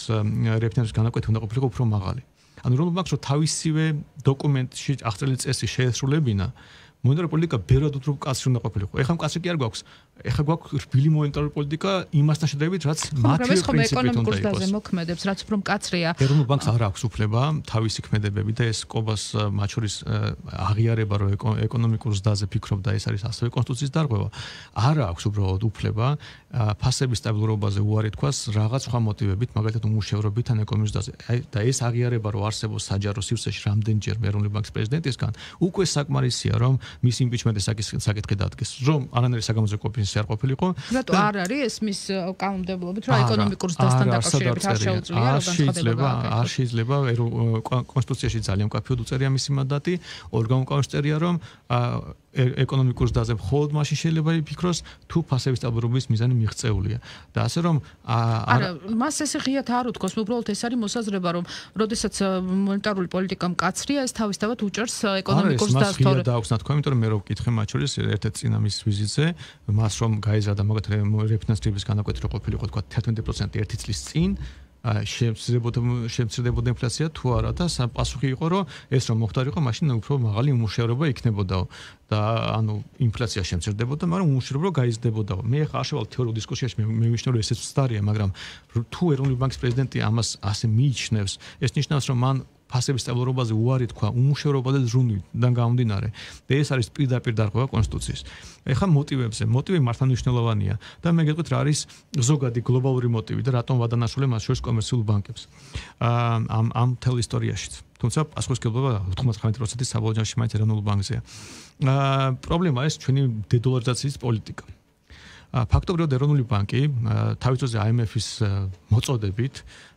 რეფერენსების განაკვეთი უნდა ყოფილიყო უფრო მაღალი. ანუ რომ ბანკს რო თავისივე დოკუმენტში აღწერილი წესი შეესრულებინა, მონეტარული პოლიტიკა ბერად უფრო კაცრი უნდა ყოფილიყო. ეხლა მკაცრი კი არ გვაქვს. ეხლა გვაქვს რბილი მონეტარული პოლიტიკა იმასთან შედარებით, რაც მათი პრინციპით უნდა იყოს. მოქმედებს, რაც უფრო მკაცრია. ეროვნულ ბანკს არ აქვს უფლება თავისი ქმედებები და ეს ყობას მათ შორის აღიარება, რომ ეკონომიკურ ზრდაზე ფიქრობდა, ეს არის ასევე კონსტიტუციის დარღვევა. არ აქვს უბრალოდ უფლება ფასების სტაბილურობაზე უარი თქვას რაღაც სხვა მოტივებით, მაგალითად უმუშევრობით ან ეკონომიკის ზრდაზე. და ეს აღიარება, რომ არსებობს საჯარო სივრცეში რამდენჯერ ეროვნული ბანკის პრეზიდენტისგან, უკვე საკმარისია, რომ მის იმპიჩმენტის საკითხი დადგეს, რომ არანაირი საგამოძიებო კომპენსაცია არ ყოფილიყო. რატო არ არის ეს მის კანონმდებლობით, რომ ეკონომიკურ ზრდასთან დაკავშირებით არ შეუძლია რომ განცხადება არ შეიძლება კონსტიტუციაში ძალიან მკაფიოდ უწერია მისი მანდატი, ორგანო წერია რომ ეკონომიკურ ზრდაზე მხოლოდ მაშინ შეიძლება იფიქროს თუ ფასების სტაბილურობის მიზანი მიღწეულია. და ასე რომ არა, მას ესე ღიად არ უთქოს, უბრალოდ ეს არის მოსაზრება, რომ როდესაც მონეტარული პოლიტიკა მკაცრია, ეს თავისთავად უჭერს ეკონომიკურ ზრდას თორე. და აქვს ნათქვა, იმიტომ რომ მე რო ვკითხე მათ შორის ერთ-ერთ წინა მის ვიზიტზე, მას რომ გაიზარდა მაგათ რეფინანსების განაკვეთი რო ყოფილიყო თქვა 11% ერთი წლის წინ, შემცირდებოდა ინფლაცია თუ არა და პასუხი იყო რომ ეს რომ მოხდარიყო, მაშინ უფრო მაღალი უმუშევრობა იქნებოდაო და ანუ ინფლაცია შემცირდებოდა, მაგრამ უმუშევრობა გაიზრდებოდაო. მე ხა არ შევალ თეორიულ დისკუსიაში მე ვიშნევ რომ ესეც ვსტარია, მაგრამ თუ ეროვნული ბანკის პრეზიდენტი ამას ასე მიიჩნევს, ეს ნიშნავს რომ მან ფასების სტაბილურობაზე უარი თქვა უმუშევრობაზე ზრუნვიდან გამომდინარე და ეს არის პირდაპირ დარღვევა კონსტიტუციის. ეხლა მოტივებზე, მოტივი მართლმსაჯულოვანია და მე გეტყვით რა არის ზოგადი გლობალური მოტივი და რატომ ვადანაშაულე მას შორის კომერციულ ბანკებს ამ მთელ ისტორიაშიც. თუმცა პასუხისმგებლობა 99% საბოლოო ჯამში მაინც ეროვნულ ბანკზეა. პრობლემა ეს ჩვენი დედოლარიზაციის პოლიტიკა. ფაქტობრივად ეროვნული ბანკი თავის დროზე IMF-ის მოწოდებით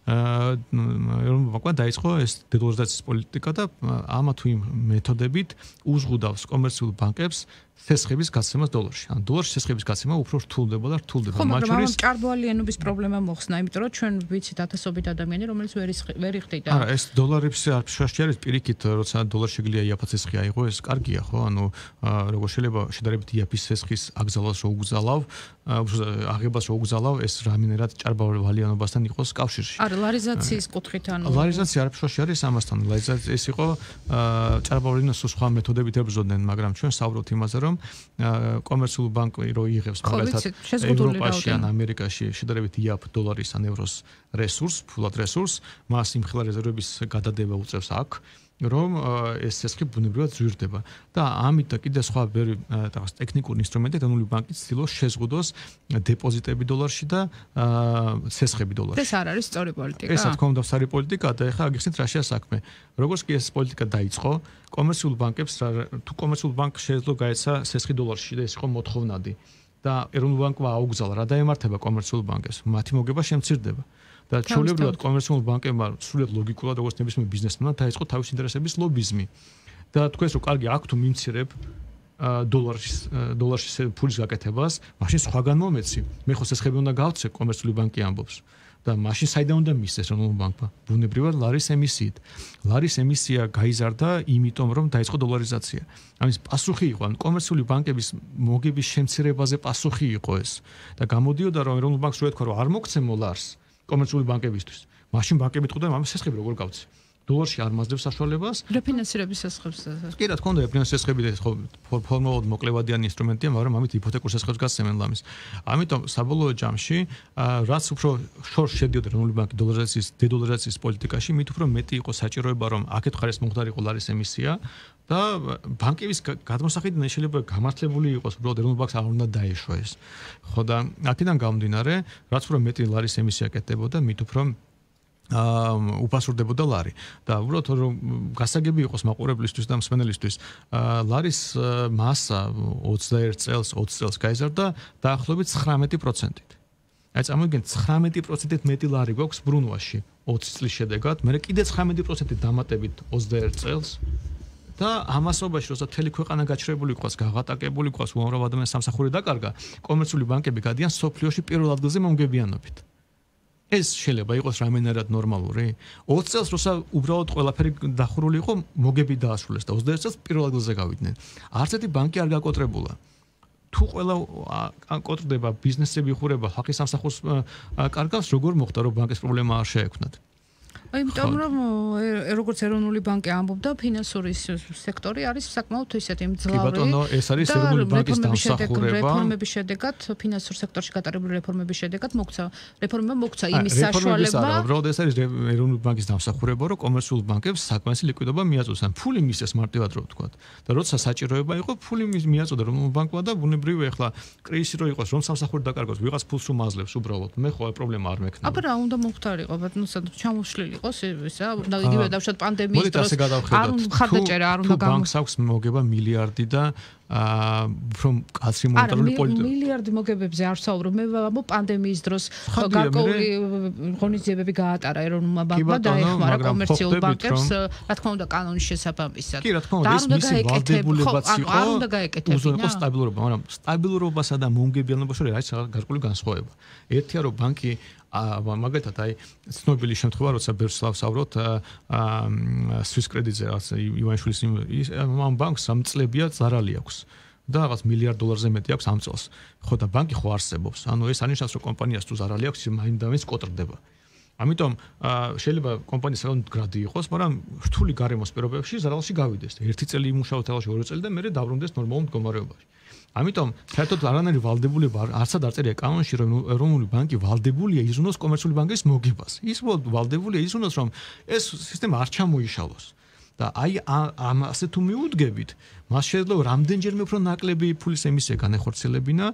ეროვნულ ბანკმა დაიწყო ეს დედოლარიზაციის პოლიტიკა და ამა თუ იმ მეთოდებით უზღუდავს კომერციულ ბანკებს სესხების გაცემას დოლარში. ან დოლარში სესხების გაცემა უფრო რთულდება და რთულდება. მათ შორის ჭარბვალიანობის პრობლემა მოხსნა, იმიტომ რომ ჩვენ ვიცით ათასობით ადამიანი, რომელიც ვერ იხდიდა. არა, ეს დოლარების არბიტრაჟი არის პირიქით, როცა დოლარში შეგვიძლია იაფად სესხი აიღო, ეს კარგია, ხო? ანუ როგორ შეიძლება შედარებით იაფის სესხის აკრძალვას რო უგზალავ, აღებას რო უგზალავ, ეს რამენერად ჭარბვალიანობასთან იყოს კავშირში. არა, ლარიზაციის კუთხით ანუ ლარიზაცია არბიტრაჟი არის ამასთან. ლარიზაცია ეს იყო ჭარბვალიანობის სხვა მეთოდებით ებრძოდნენ, მაგრამ ჩვენ საუბრობთ იმაზე, რომ კომერციული ბანკი რო იღებს მაგალითად ევროპაში ან ამერიკაში შედარებით იაფ დოლარის ან ევროს რესურსს, ფულად რესურსს, მას იმ ხელა რეზერვების გადადება უწევს აქ, რომ ეს სესხი ბუნებრივად ზვირდება და ამით და კიდე სხვა რაღაც ტექნიკური ინსტრუმენტები ეროვნული ბანკი ცდილობს შეზღუდოს დეპოზიტები დოლარში და სესხები დოლარში. ეს არ არის სწორი პოლიტიკა. ეს რა თქმა უნდა სწორი პოლიტიკაა და ეხლა აგიხსნით რაშია საქმე. როგორც კი ეს პოლიტიკა დაიწყო, კომერციულ ბანკებს თუ კომერციულ ბანკს შეეძლო გაეცა სესხი დოლარში და ეს იყო მოთხოვნადი და ეროვნულ ბანკმა აუგზავნა რა დაემართება კომერციულ ბანკებს, მათი მოგება შემცირდება. და ჩვეულებრივად კომერციულ ბანკებმა სრულიად ლოგიკურად როგორც ნებისმიერ ბიზნესმენმა დაიწყო თავის ინტერესების ლობიზმი. და თქვენს რომ კარგი აქ თუ მიმცირებ დოლარში ფულის გაკეთებას, მაშინ სხვაგან მომეცი. მე ხო სესხები უნდა გავცე, კომერციული ბანკი ამბობს. და მაშინ საიდან უნდა მისცეს ეროვნულ ბანკმა? ბუნებრივად ლარის ემისიით. ლარის ემისია გაიზარდა იმიტომ რომ დაიწყო დოლარიზაცია. ამის პასუხი იყო, ან კომერციული ბანკების მოგების შემცირებაზე პასუხი იყო ეს. და გამოდიოდა რომ ეროვნულ ბანკს რო ეთქვა რომ არ მოგცემო ლარს კომერციული ბანკებისთვის. მაშინ ბანკები თქონდა ამ სესხები როგორ გავცე? დოლარში არ მაძლევს საშუალებას. რეფინანსირების სესხებს. კი რა თქმა უნდა, რეფინანსირების სესხები ხო ფორმალურად მოკლევადიანი ინსტრუმენტია, მაგრამ ამით იპოთეკურ სესხებს გასცემენ ლამის. ამიტომ საბოლოო ჯამში, რაც უფრო შორს შედიოდა ეროვნული ბანკი დედოლარიზაციის პოლიტიკაში, მით უფრო მეტი იყო საჭიროება, რომ აქეთ ხარეს მომხდარიყო ლარის ემისია და ბანკების გადმოსახედიდან შეიძლება გამართლებული იყოს, უბრალოდ ეროვნულ ბანკს არ უნდა დაეშვა ეს. ხო და აქედან გამომდინარე, რაც უფრო მეტი ლარის ემისია კეთდებოდა, მით უფრო უფასურდებოდა ლარი და უბრალოდ რომ გასაგები იყოს მაყურებლისთვის და მსმენელისთვის ლარის მასა 21 წელს 20 წელს გაიზარდა დაახლოებით 19%-ით. აი წამოიგეთ 19%-ით მეტი ლარი გვაქვს ბრუნვაში 20 წლის შედეგად, მე კიდე 19%-ით დამატებით 21 წელს და ამასობაში როცა მთელი ქვეყანა გაჩრებული ყავს, გაღატაკებული ყავს, უამრავ ადამიანს სამსახური დაკარგა, კომერციული ბანკები გადიან სოფლიოში პირველ ადგილზე მომგებიანობით. ეს შეიძლება იყოს რამენერად ნორმალური? 20 წელს როცა უბრალოდ ყველაფერი დახურული იყო, მოგები დაასრულეს და 21 წელს პირველ ადგილზე გავიდნენ. არც ერთი ბანკი არ გაკოტრებულა. თუ ყველა კოტრდება, ბიზნესები ხურება, ხალხის სამსახურს კარგავს, როგორ მოხდა რომ ბანკის პრობლემა არ შეექმნათ? იმიტომ რომ როგორც ეროვნული ბანკი ამბობდა, ფინანსური სექტორი არის საკმაოდ ისეთი მძლავრი. კი ბატონო, ეს არის ეროვნული ბანკის დამსახურება. რეფორმების შედეგად, ფინანსურ სექტორში გატარებული რეფორმების შედეგად რეფორმებმა მოგცა იმის საშუალება. უბრალოდ ეს არის ეროვნული ბანკის დამსახურება, რომ კომერციულ ბანკებს საკმაისი ლიკვიდობა მიაწოდოს, ან ფული მისცეს მარტივად რო ვთქვა. და როცა საჭიროება იყო, ფული მიაწოდა ეროვნულ ბანკმა და ბუნებრივია ახლა კრიზისი რო იყოს, რომ სამსახური დაკარგოს, ვიღაც ფულს რომ აძლევს უბრალოდ. მე ხო პრობლემა არ მექნება. აბა რა უნდა მომხდარიყო, ბატონო, ჩამოშლილი იყოს ისა, და იგივე დავშოთ პანდემიის დროს არ უნდა ხარდაჭერა, არ უნდა ბანკს აქვს მოგება მილიარდი და უფრო კაცრი მონეტარული პოლიტიკა. მილიარდი მოგებებზე არ ვსაუბრობ. მე ვამბობ პანდემიის დროს გარკვეული ღონისძიებები გაატარა ეროვნულმა ბანკმა და ეხმარა კომერციულ ბანკებს, რა თქმა უნდა, კანონის შესაბამისად. კი, რა თქმა უნდა, ეს მისი ვალდებულებაც იყო. არ უნდა გაეკეთებინა. უზრუნველყო სტაბილურობა, მაგრამ სტაბილურობასა და მომგებიანობაში არის გარკვეული განსხვავება. ერთია რომ ბანკი მაგალითად აი ცნობილი შემთხვევა როცა ბერს ვსაუბრობთ Swiss Credit-ზე ივანიშვილის ამ ბანკს 3 წლებია ზარალი აქვს და რაღაც $1 მილიარდზე მეტი აქვს ამ წელს. ხო და ბანკი ხო არსებობს. ანუ ეს არნიშნავს რომ კომპანიას თუ ზარალი აქვს, მაინდამის კოტრდება. ამიტომ შეიძლება კომპანიის საკუთარი გრადი იყოს, მაგრამ რთული გარემოს პირობებში ზარალში გავიდეს. ერთი წელი იმუშაოთ თალაში, ორი წელი და მერე დაბრუნდეს ნორმალურ მდგომარეობაში. ამიტომ საერთოდ არანაირი ვალდებულება არცად არ წერია კანონში, რომ ეროვნული ბანკი ვალდებულია იზრუნოს კომერციული ბანკის მოგებას. ის ვალდებულია იზრუნოს, რომ ეს სისტემა არ ჩამოიშალოს. და აი ამაზე თუ მიუდგებით, მას შეიძლება რამდენჯერმე უფრო ნაკლები ფულის ემისია განეხორციელებინა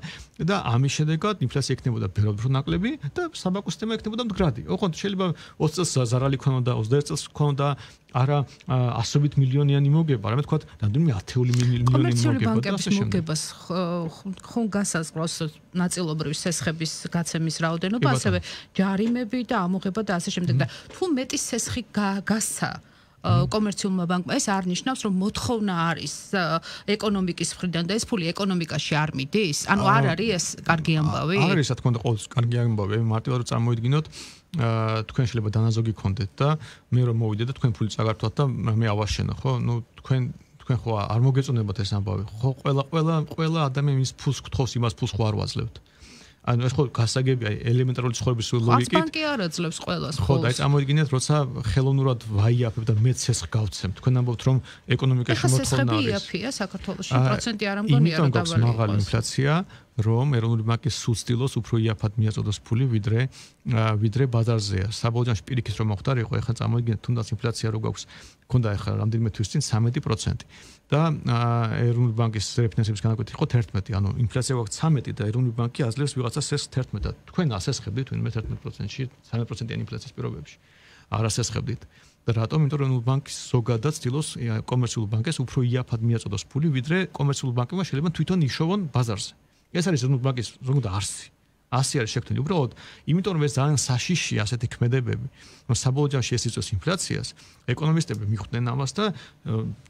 და ამის შედეგად ინფლაცია იქნებოდა ბევრად უფრო ნაკლები და საბაკო სისტემა იქნებოდა მდგრადი. ოღონდ შეიძლება 20 წელს ზარალი ქონოდა, 21 წელს ქონოდა არა ასობით მილიონიანი მოგება, არამედ თქვა რამდენიმე ათეული მილიონიანი მოგება. კომერციული ბანკების მოგებას ხომ გასაზღვრავს ნაწილობრივი სესხების გაცემის რაოდენობა, ასევე ჯარიმები და ამოღება და ასე შემდეგ და თუ მეტი სესხი გასცა კომერციულმა ბანკმა, ეს არ ნიშნავს, რომ მოთხოვნა არის ეკონომიკის მხრიდან და ეს ფული ეკონომიკაში არ მიდის? ანუ არ არის ეს კარგი ამბავი? არის, რა თქმა უნდა, ყოველთვის კარგი ამბავი. მარტივად რომ წარმოიდგინოთ, თქვენ შეიძლება დანაზოგი გქონდეთ და მე რომ მოვიდე და თქვენ ფული წაგართვათ და მე ავაშენო, ხო? ნუ თქვენ ხო არ მოგეწონებათ ეს ამბავი. ხო, ყველა ადამიანი ფულს გთხოვს, იმას ფულს ხო არ ვაძლევთ. ანუ ეს ხო გასაგებია ელემენტარული ცხოვრების ლოგიკით. ბანკი არ აძლევს ყველას ხო, და ეს წარმოიდგინეთ, როცა ხელოვნურად ვაიაფებ და მეც სესხ გავცემ. თქვენ ამბობთ, რომ ეკონომიკაში მოთხოვნა არის. სესხები იაფია საქართველოში, პროცენტი არ ამგონია რა დაბალი. მაღალი ინფლაცია, რომ ეროვნული ბანკი სულ ცდილობს უფრო იაფად მიაწოდოს ფული, ვიდრე ბაზარზეა. საბოლოოში პირიქით რომ მოხდარიყო, ეხლა წარმოიდგინეთ, თუნდაც ინფლაცია რო გვაქვს, ქონდა ეხლა რამდენიმე თვის წინ 13%. და ეროვნული ბანკის რეფინანსების განაკვეთი იყო 11, ანუ ინფლაცია გვაქვს 13 და ეროვნული ბანკი აძლევს ვიღაცა სესხს 11 და თქვენ ასესხებდით ვინმე 11%-ში, 13%-იანი ინფლაციის პირობებში. არ ასესხებდით. და რატომ? იმიტომ რომ ეროვნული ბანკი ზოგადად ცდილობს კომერციულ ბანკებს უფრო იაფად მიაწოდოს ფული, ვიდრე კომერციულ ბანკებმა შეიძლება თვითონ იშოვონ ბაზარზე. ეს არის ეროვნული ბანკის ზოგადად არსი. ასე არის შექმნილი. უბრალოდ, იმიტომ რომ ეს ძალიან საშიშია ასეთი ქმედებები, რომ საბოლოო ჯამში ეს იწვევს ინფლაციას, ეკონომისტები მიხვდნენ ამას და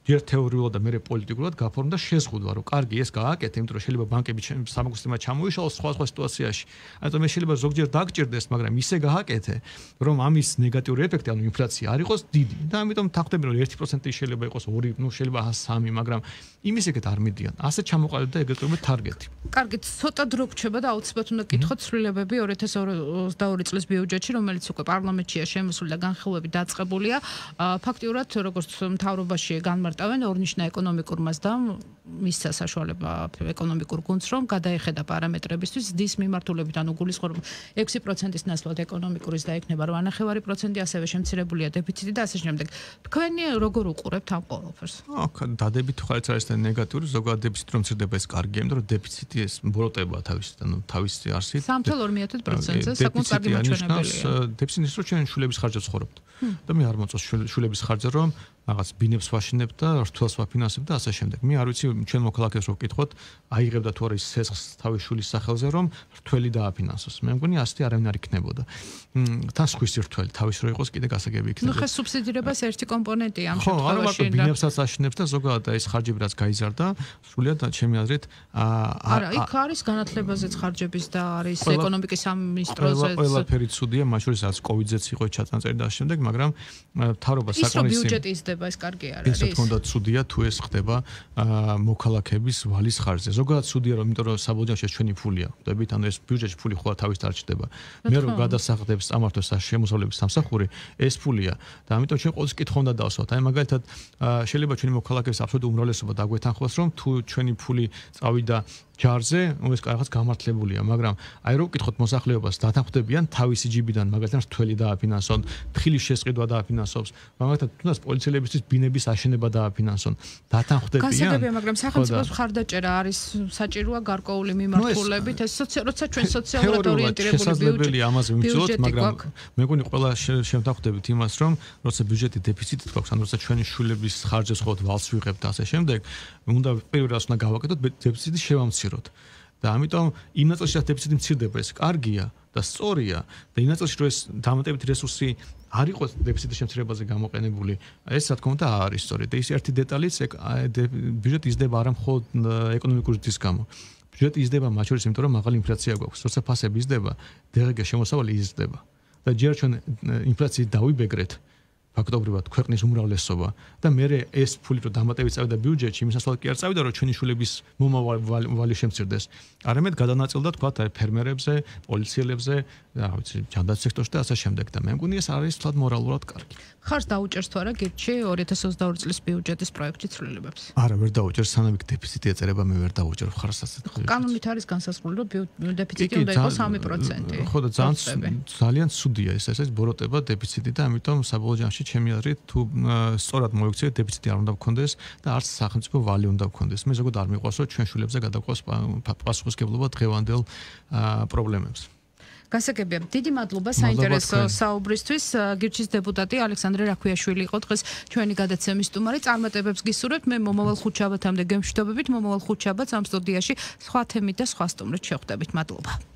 ჯერ თეორიულად და მერე პოლიტიკურად გაფორმდა შეზღუდვა, რომ კარგი ეს გააკეთე, იმიტომ რომ შეიძლება ბანკები საბანკო სისტემა ჩამოიშალოს სხვა სიტუაციაში. ანუ მე შეიძლება ზოგჯერ დაგჭირდეს, მაგრამ ისე გააკეთე, რომ ამის ნეგატიური ეფექტი, ანუ ინფლაცია არ იყოს დიდი. და ამიტომ თანხმდები რომ 1% შეიძლება იყოს 2, ნუ შეიძლება 3, მაგრამ იმის ეგეთ არ მიდიან. ასე ჩამოყალიბდა და ეგრეთ წოდებული ტარგეტი. კარგი, ცოტა დრო გრჩება და აუცილებლად უნდა გითხოთ ცვლილებები 2022 წლის ბიუჯეტში, რომელიც უკვე პარლამენტშია შემოსული და განხილვები დაწყებულია. ფაქტიურად, როგორც მთავრობაში განმარტავენ, ორნიშნა ეკონომიკურ მასდამ მისცა საშუალება ეკონომიკურ გუნდს, რომ გადაეხედა პარამეტრებისთვის ზრდის მიმართულებით, ანუ გულისხმობ 6%-ის ნაცვლად ეკონომიკურის და იქნება 8.5%, ასევე შემცირებულია დეფიციტი და ასე შემდეგ. თქვენი როგორ უყურებთ ამ ყველაფერს? დადებით ხარც არის და ნეგატიური, ზოგადად დეფიციტი რომ მცირდება ეს კარგია, იმიტომ რომ დეფიციტი ეს მბროტება თავისი არსით. 3.2%-ზე საკმაოდ კარგი მაჩვენებელია. დეფიციტი ის რომ ჩვენ შულების ხარჯზე ცხოვრობთ. და მე არ მოწონს შულების ხარჯზე რომ რაღაც ბინებს ვაშენებ და რთულს ვაფინანსებ და ასე შემდეგ. მე არ ვიცი ჩვენ მოქალაქეს რო ვკითხოთ, აიღებდა თუ არა ის სესხს თავის შულის სახელზე რომ რთველი დააფინანსოს. მე მგონი ასეთი არავინ არ იქნებოდა. თან სხვის რთველი თავის რო იყოს კიდე გასაგები იქნება. ნუ ხე სუბსიდირებას ერთი კომპონენტია ამ შემთხვევაში. ხო, არა მარტო ბინებსაც აშენებს და ზოგადად ეს ხარჯები რაც გაიზარდა, სრულიად ჩემი აზრით არა, იქ არის განათლებაზეც ხარჯების და არის ეკონომიკის სამინისტროზეც. ყველაფერი ცუდია, მათ შორის რაც კოვიდზეც იყო ჩაწანწერი და ასე შემდეგ, მაგრამ მთავრობა საკონისიმ ბიუჯეტი იზრდება, ეს კარგი არ არის. ეს თქონდა ცუდია თუ ეს ხდება მოქალაქეების ვალის ხარჯზე. ზოგადად ცუდია, რომ იმიტომ რომ საბოლოოში ჩვენი ფულია. ხვდებით, ანუ ეს ბიუჯეტში ფული ხო თავის დარჩდება. მე რომ გადასახადებს ამართოს შემოსავლების სამსახური, ეს ფულია და ამიტომ ჩვენ ყოველთვის კითხვა უნდა დავსვათ. აი მაგალითად შეიძლება ჩვენი მოქალაქეების აბსოლუტური უმრავლესობა დაგვეთანხმოს, რომ თუ ჩვენი ფული წავიდა ჯარზე, ეს რაღაც გამართლებულია, მაგრამ აი რო ვკითხოთ მოსახლეობას, დათანხმდებიან თავისი ჯიბიდან, მაგალითად რთველი დააფინანსონ, თხილის შესყიდვა დააფინანსოს, მაგალითად თუნდაც პოლიციელებისთვის ბინების აშენება დააფინანსონ, დათანხმდებიან. გასაგებია, მაგრამ სახელმწიფოს მხარდაჭერა არის საჭიროა გარკვეული მიმართულებით, ეს როცა ჩვენ სოციალურად ორიენტირებული ამაზე ვიმსჯელოთ, მაგრამ მე მგონი ყველა შევთანხმდებით იმას, რომ როცა ბიუჯეტი დეფიციტით გვაქვს, ან როცა ჩვენი შვილების ხარჯებს ხოთ ვალს ვიღებთ და ასე შემდეგ, უნდა პირველ რიგში უნდა გავაკეთოთ დეფიციტი შევამციროთ. და ამიტომ იმ ნაწილში რაც დეფიციტი მცირდება, ეს კარგია და სწორია და იმ ნაწილში რომ ეს დამატებითი რესურსი არ იყოს დეფიციტის შემცირებაზე გამოყენებული, ეს რა თქმა უნდა არის სწორი. და ის ერთი დეტალიც ბიუჯეტი იზრდება არა მხოლოდ ეკონომიკური ზრდის გამო. ბიუჯეტი იზრდება მათ შორის, იმიტომ რომ მაღალი ინფლაცია გვაქვს. როცა ფასები იზრდება, დღეგ შემოსავალი იზრდება. და ჯერ ჩვენ ინფლაციით დავიბეგრეთ ფაქტობრივად ქვეყნის უმრავლესობა და მე ეს ფული რო დამატებით წავიდა ბიუჯეტში, იმის ნაცვლად კი არ წავიდა, რომ ჩვენი შულების მომავალი შემცირდეს. არამედ გადანაწილდა თქვა ფერმერებზე, პოლიციელებზე, რა ვიცი, ჯანდაცვის სექტორში და ასე შემდეგ და მე მგონი ეს არის თლად მორალურად კარგი. ხარს დაუჭერს თუ არა გირჩი 2022 წლის ბიუჯეტის პროექტის ცვლილებებს? არა, ვერ დაუჭერს, სანამ იქ დეფიციტი ეწერება, მე ვერ დაუჭერ ხარს ასეთ. კანონით არის განსაზღვრული, რომ დეფიციტი უნდა იყოს 3%. ხო და ძალიან ცუდია ეს ბოროტება დეფიციტი და ამიტომ საბოლოო ჯამში ჩემი აზრით, თუ სწორად მოიქცეთ, დეფიციტი არ უნდა გქონდეს და არც სახელმწიფო ვალი უნდა გქონდეს. მე ზოგადად არ მიყვარს, რომ ჩვენ შვილებზე გადაგვყავს პასუხისმგებლობა დღევანდელ პრობლემებს. გასაგებია. დიდი მადლობა საინტერესო საუბრისთვის. გირჩის დეპუტატი ალექსანდრე რაქვიაშვილი იყო დღეს ჩვენი გადაცემის სტუმარი. წარმატებებს გისურვებთ. მე მომავალ ხუთშაბათამდე გემშვიდობებით. მომავალ ხუთშაბათს ამ სტუდიაში სხვა თემით და სხვა სტუმრით შევხვდებით. მადლობა.